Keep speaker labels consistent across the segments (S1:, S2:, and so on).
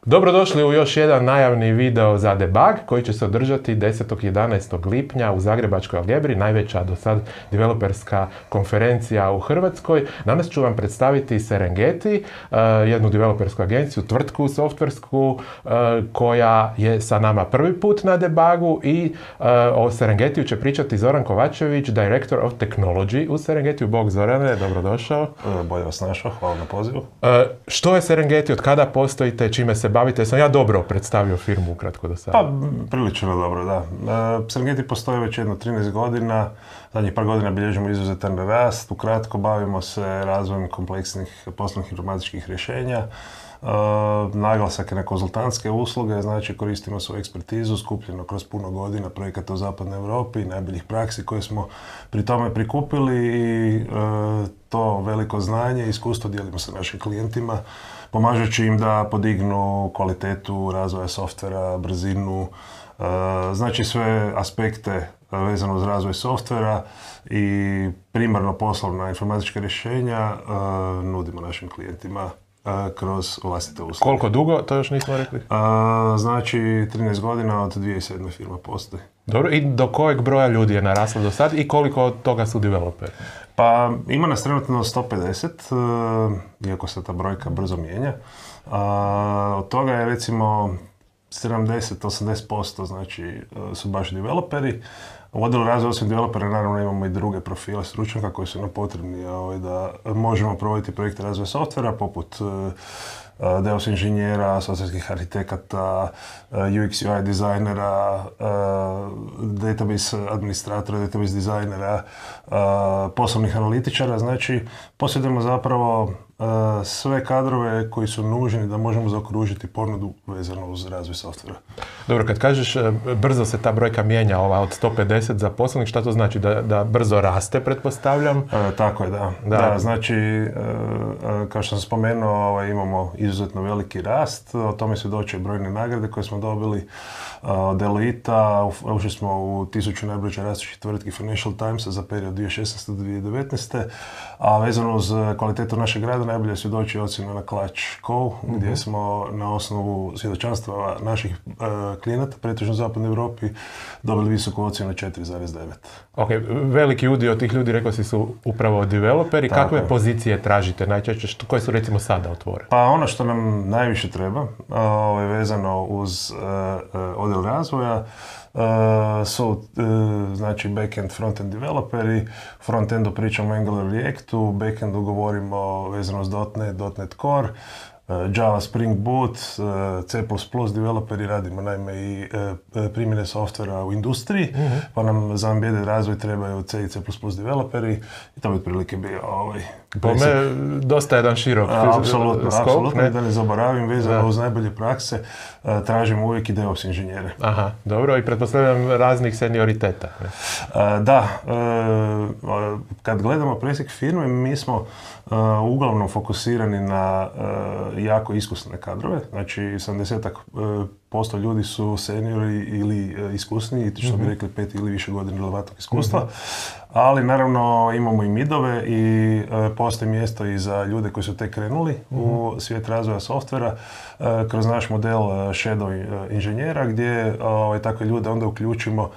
S1: Dobrodošli u još jedan najavni video za debug koji će se održati 10. i 11. lipnja u Zagrebačkoj Algebri, najveća do sad developerska konferencija u Hrvatskoj. Danas ću vam predstaviti Serengeti, jednu developersku agenciju, tvrtku softversku koja je sa nama prvi put na debugu i o Serengetiju će pričati Zoran Kovačević, Director of Technology u Serengetiju. Bog Zorane, dobrodošao.
S2: Bolje vas našao, hvala na pozivu.
S1: Što je Serengeti, od kada postojite, čime se bavite? Sam ja dobro predstavio firmu ukratko do sada?
S2: Pa, prilično dobro, da. Serengeti postoji već jedno 13 godina. Zadnjih par godina bilježimo izuzetan rast. Ukratko bavimo se razvojem kompleksnih poslovnih informatičkih rješenja. Naglasak je na konzultantske usluge, znači koristimo svoju ekspertizu skupljeno kroz puno godina projekata u zapadnoj Europi, najboljih praksi koje smo pri tome prikupili i to veliko znanje i iskustvo dijelimo sa našim klijentima, pomažući im da podignu kvalitetu razvoja softvera, brzinu, znači sve aspekte vezano uz razvoj softvera i primarno poslovna informatička rješenja nudimo našim klijentima kroz vlastite usluge.
S1: Koliko dugo, to još nismo rekli?
S2: Znači 13 godina od 2007. firma postoji.
S1: Dobro, i do kojeg broja ljudi je naraslo do sad i koliko od toga su developeri?
S2: Pa ima nas trenutno 150, iako se ta brojka brzo mijenja. Od toga je recimo 70-80% znači su baš developeri. U odjelu razvoja osim developera naravno imamo i druge profile stručnjaka koji su nam potrebni da možemo provoditi projekte razvoja softvera poput DevOps inženjera, softverskih arhitekata, UX UI dizajnera, database administratora, database dizajnera, poslovnih analitičara. Znači, posjedujemo zapravo sve kadrove koji su nužni da možemo zaokružiti ponudu vezano uz razvoj softvera.
S1: Dobro, kad kažeš brzo se ta brojka mijenja, ova od 150 zaposlenih, šta to znači? Da brzo raste, pretpostavljam?
S2: Tako je, da. Znači, kao što sam spomenuo, imamo izuzetno veliki rast, o tome svjedoče brojne nagrade koje smo dobili od Deloitta, ušli smo u 1000 najbrže rastućih tvrtki Financial Timesa za period 2016. do 2019. A vezano uz kvalitetu našeg rada najbolje svjedoči ocjena na Clutch.co, gdje smo na osnovu svjedočanstva naših klijenata, pretežno u zapadnoj Europi, dobili visoku ocjenu 4,9.
S1: Ok, veliki udio tih ljudi, rekao si, su upravo developeri. Kakve pozicije tražite najčešće? Koje su recimo sada otvorene?
S2: Pa ono što nam najviše treba, vezano uz odjel razvoja, su znači backend, frontend developeri. Frontendu pričamo o Angular Reactu, backendu govorimo vezano uz .NET Core, Java, Spring Boot, C++ developeri, radimo naime i primjene softvera u industriji, pa nam za embedded razvoj trebaju C i C++ developeri i to bi otprilike bio
S1: Pome, dosta jedan širok
S2: Apsolutno, i da ne zaboravim, vezano uz najbolje prakse, tražimo uvijek i DevOps inženjere.
S1: Aha, dobro, i pretpostavljam raznih senioriteta.
S2: Da, kad gledamo presjek firme, mi smo uglavnom fokusirani na jako iskusne kadrove, znači 70% ljudi su seniori ili iskusniji, što bi rekli 5 ili više godina relevantnog iskustva, ali naravno imamo i midove i postoji mjesto i za ljude koji su tek krenuli u svijet razvoja softvera kroz naš model shadow inženjera, gdje takve ljude onda uključimo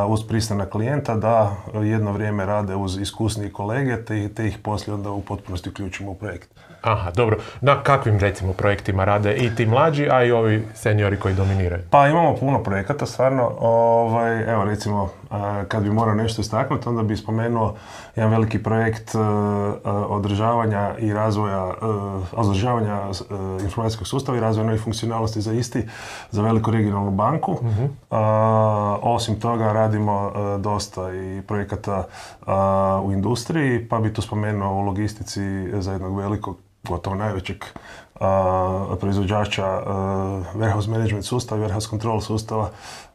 S2: uz pristanak klijenta da jedno vrijeme rade uz iskusniji kolege te ih poslije onda u potpunosti uključimo u projekt.
S1: Aha, dobro. Na kakvim recimo projektima rade i ti mlađi, a i ovi seniori koji dominiraju?
S2: Pa imamo puno projekata, stvarno. Evo recimo, kad bi morao nešto istaknuti, onda bi spomenuo jedan veliki projekt održavanja i razvoja, informacijskog sustava i razvoja novih funkcionalnosti za veliku regionalnu banku. Osim toga radimo dosta i projekata u industriji, pa bi tu spomenuo u logistici za jednog velikog, gotovo najvećeg proizvođača warehouse management sustava, warehouse control sustava.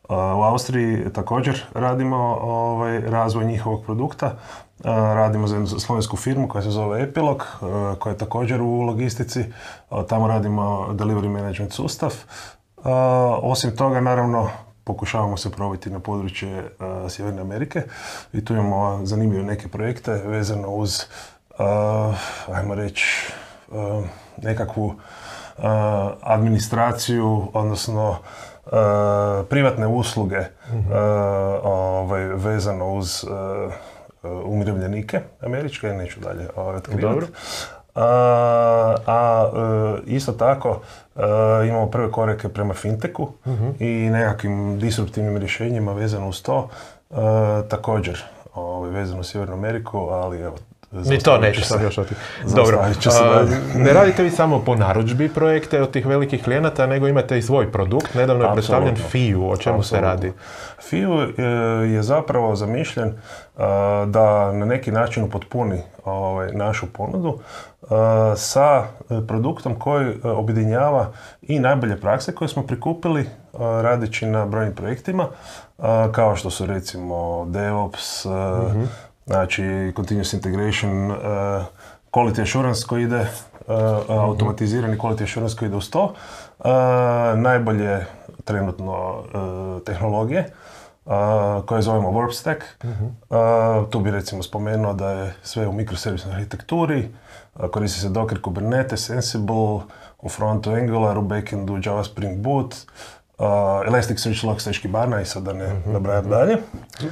S2: U Austriji također radimo razvoj njihovog produkta. Radimo za jednu slovensku firmu koja se zove Epilog, koja je također u logistici. Tamo radimo delivery management sustav. Osim toga, naravno, pokušavamo se probiti na područje Sjeverne Amerike i tu imamo zanimljive neke projekte vezano uz, ajmo reći, nekakvu administraciju, odnosno privatne usluge vezano uz umirovljenike američke, neću dalje otkrivati. Isto tako imamo prve korake prema fintechu i nekakvim disruptivnim rješenjima vezano uz to, također vezano u Sjevernu Ameriku, ali evo,
S1: ni to neću sad još otići. Dobro, ne radite vi samo po narudžbi projekte od tih velikih klijenata, nego imate i svoj produkt. Nedavno je predstavljen FIU. O čemu se radi?
S2: FIU je zapravo zamišljen da na neki način upotpuni našu ponudu sa produktom koji objedinjava i najbolje prakse koje smo prikupili radeći na brojnim projektima, kao što su recimo DevOps, znači Continuous Integration, Quality Assurance koji ide, automatizirani Quality Assurance koji ide uz to, najbolje trenutno tehnologije koje zovemo Warp Stack. Tu bi recimo spomenuo da je sve u mikroservisnoj arhitekturi, koristi se Docker, Kubernetes, Ansible, u frontu Angular, u backendu Java Spring Boot, Elasticsearch, Log Stash, Kibana i sad da ne nabrajam dalje.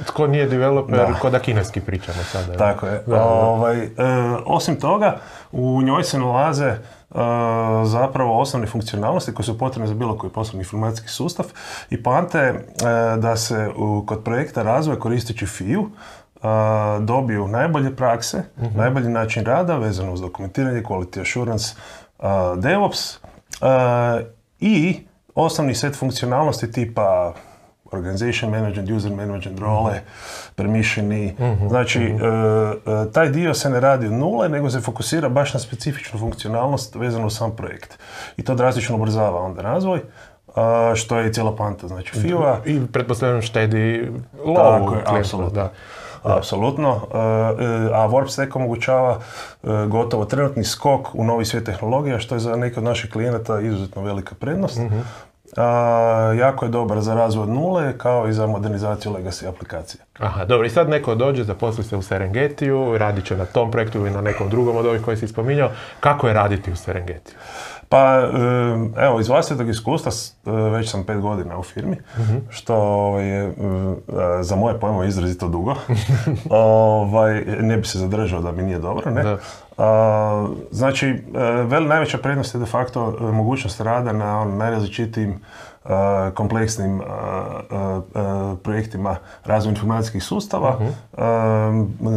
S1: Tko nije developer, ko da kineski pričamo sada.
S2: Tako je. Osim toga, u njoj se nalaze zapravo osnovne funkcionalnosti koje su potrebne za bilo koji poslovni informacijski sustav i poanta je da se kod projekta razvoja koristeći FIU dobiju najbolje prakse, najbolji način rada vezano uz dokumentiranje, quality assurance, DevOps i osnovni set funkcionalnosti tipa organization management, user management, role, permissioni. Znači, taj dio se ne radi od nule, nego se fokusira baš na specifičnu funkcionalnost vezanu uz sam projekt. I to drastično ubrzava onda razvoj, što je i cijela poanta. Znači, FIU-a...
S1: I pretpostavljam štedi lovu.
S2: Tako je, apsolutno. Apsolutno, a Warp Stack omogućava gotovo trenutni skok u novi svijet tehnologija, što je za neke od naših klijenata izuzetno velika prednost. Jako je dobar za razvoj od nule, kao i za modernizaciju legacy aplikacije.
S1: Aha, dobro, i sad neko dođe, zaposli se u Serengetiju, radit će na tom projektu ili na nekom drugom od ovih koji si spominjao. Kako je raditi u Serengetiju?
S2: Pa, evo, iz vlastitog iskustva, već sam 5 godina u firmi, što je za moje pojmove izrazito dugo. Ne bi se zadržao da mi nije dobro, ne? Znači, najveća prednost je de facto mogućnost rada na najrazličitijim kompleksnim projektima razvoja informacijskih sustava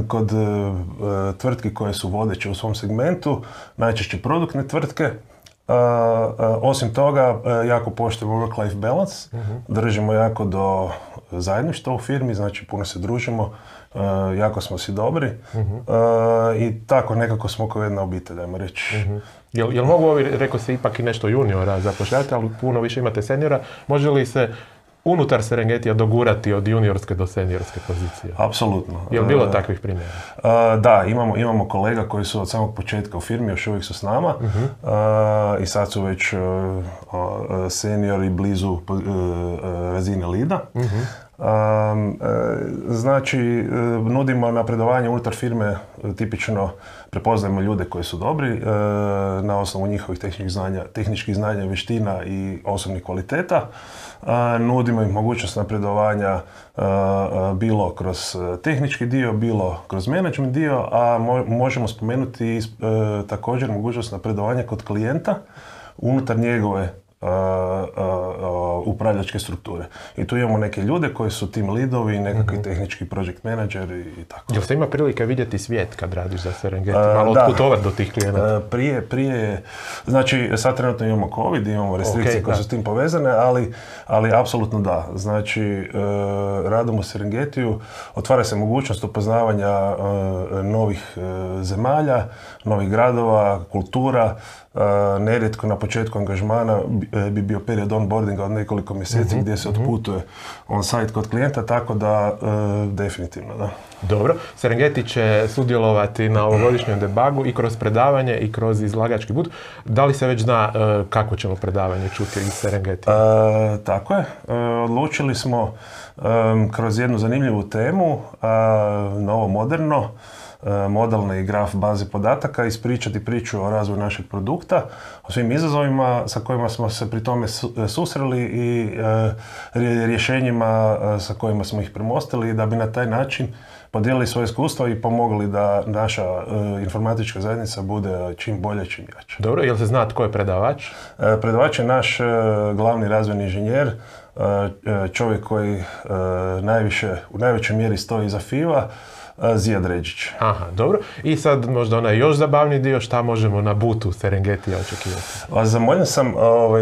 S2: kod tvrtki koje su vodeće u svom segmentu, najčešće produktne tvrtke. Osim toga, jako poštujemo work-life balance, držimo jako do zajedništva u firmi, znači puno se družimo, jako smo si dobri i tako nekako smo kao jedna obitelj, ajmo reći.
S1: Jel mogu ovi, rekao se, ipak i nešto juniora zapošljavati, ali puno više imate seniora, može li se unutar Serengetija dogurati od juniorske do seniorske pozicije?
S2: Apsolutno.
S1: Je li bilo takvih primjera?
S2: Da, imamo kolega koji su od samog početka u firmi, još uvijek su s nama i sad su već seniori blizu razine leada. Znači, nudimo napredovanje unutar firme, tipično prepoznajemo ljude koji su dobri na osnovu njihovih tehničkih znanja, vještina i osobnih kvaliteta. Nudimo im mogućnost napredovanja bilo kroz tehnički dio, bilo kroz management dio, a možemo spomenuti također mogućnost napredovanja kod klijenta unutar njegove upravljačke strukture. I tu imamo neke ljude koji su team leadovi, nekakvi tehnički project menadžeri i tako.
S1: Jel se ima prilike vidjeti svijet kad radiš za Serengeti? Malo otputovati do tih klijenata?
S2: Prije, znači sad trenutno imamo COVID, imamo restrikcije koje su s tim povezane, ali apsolutno da. Znači, radom u Serengetiju otvara se mogućnost upoznavanja novih zemalja, novih gradova, kultura. Nerijetko na početku angažmana bi bio period onboardinga od nekoliko mjeseci gdje se otputuje on-site kod klijenta, tako da definitivno, da.
S1: Dobro, Serengeti će sudjelovati na ovogodišnjem debugu i kroz predavanje i kroz izlagački put. Da li se već zna kako ćemo predavanje čuti iz Serengeti?
S2: Tako je. Odlučili smo kroz jednu zanimljivu temu, novo moderno, modalne i graf baze podataka, ispričati priču o razvoju našeg produkta, o svim izazovima sa kojima smo se pri tome susreli i rješenjima sa kojima smo ih premostili, da bi na taj način podijelili svoje iskustvo i pomogli da naša informatička zajednica bude čim bolje, čim jača.
S1: Dobro, jel se zna tko je predavač?
S2: Predavač je naš glavni razvojni inženjer, čovjek koji u najvećoj mjeri stoji iza FIVA, Zijad Ređić.
S1: Aha, dobro. I sad možda onaj još zabavni dio, šta možemo na bootu Serengetija očekivati?
S2: Zamoljen sam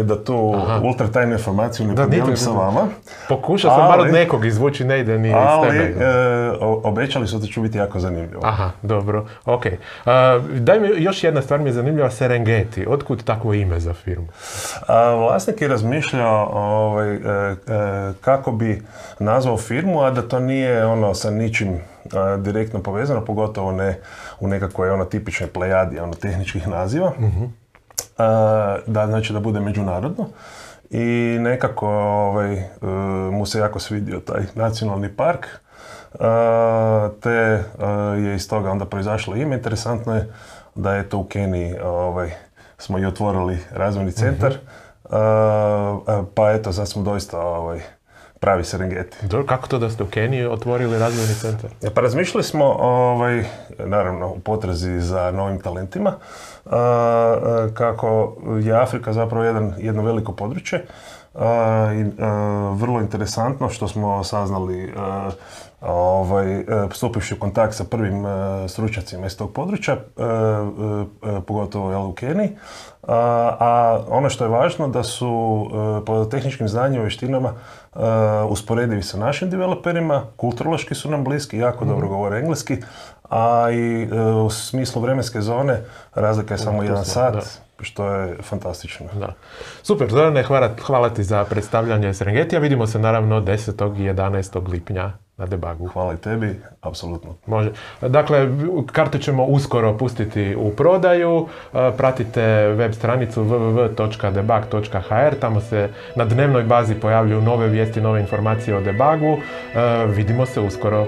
S2: da tu ultra tajnu informaciju ne podijelim sa vama.
S1: Pokušao sam bar od nekog izvući, ne ide ni iz tebe.
S2: Obećali su da će biti jako zanimljivo.
S1: Aha, dobro, ok. Daj mi, još jedna stvar mi je zanimljiva, Serengeti. Otkud takvo ime za firmu?
S2: Vlasnik je razmišljao kako bi nazvao firmu, a da to nije ono sa ničim direktno povezano, pogotovo ne u nekakvoj tipičnoj plejadi tehničkih naziva. Znači da bude međunarodno. I nekako mu se jako svidio taj nacionalni park, te je iz toga onda proizašlo ime. Interesantno je da je to u Keniji smo i otvorili razvojni centar, pa eto sad smo doista pravi Serengeti.
S1: Dobro, kako to da ste u Keniji otvorili razvojni centar?
S2: Pa razmišljali smo, naravno, u potrazi za novim talentima, kako je Afrika zapravo jedno veliko područje i vrlo interesantno što smo saznali stupivši u kontakt sa prvim stručnjacima iz tog područja, pogotovo u Keniji. A ono što je važno da su po tehničkim znanjima i vještinama usporedivi sa našim developerima, kulturološki su nam bliski, jako dobro govore engleski, a i u smislu vremenske zone razlika je samo 1 sat, što je fantastično.
S1: Da. Super, Zorane, hvala ti za predstavljanje Serengetija. Vidimo se naravno 10. i 11. lipnja na debugu.
S2: Hvala i tebi, apsolutno.
S1: Može. Dakle, karte ćemo uskoro pustiti u prodaju. Pratite web stranicu www.debug.hr. Tamo se na dnevnoj bazi pojavljuju nove vijesti, nove informacije o debugu. Vidimo se uskoro.